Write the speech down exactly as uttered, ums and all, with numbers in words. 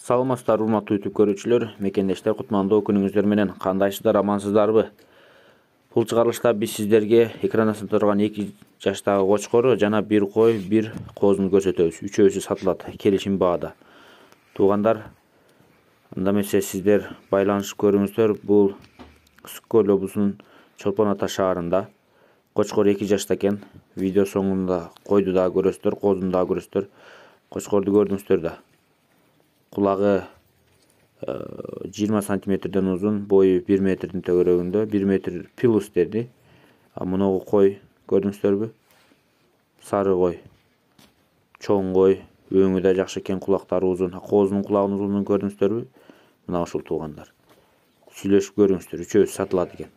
Саламатсыздар урматтуу YouTube көрүүчүлөр, мекендештер, кутмандуу күнүңүздөр менен. Кандайсыздар, амансыздарбы? Бул чыгарылышта биз сиздерге экрандасын турган эки жаштагы кочкору жана бир кой, бир козуну көрсөтөбүз. Үчөөсү сатылат келишим баада. Туугандар, анда эмесе сиздер байланышып көрүңүздөр. Бул Ысык көл облусунун Чолпон Ата шаарында кочкор эки жашта экен. Видео соңунда койду дагы көрөсүздөр, козуну дагы көрөсүздөр. Кочкорду көрдүңүздөр да. Кулагы жыйырма сантиметрден узун, бою бир метрдин төгөрөгүндө, бир метр плюс деди. А муногу кой көрдүңүздөрбү? Сары кой. Чоң кой, өңү да жакшы экен, кулактары узун. Козунун кулагынын узунлугун көрдүңүздөрбү? Мына ушул туугандар. Сүйлөшүп көрүңүздөр, үчөөсү сатылат экен.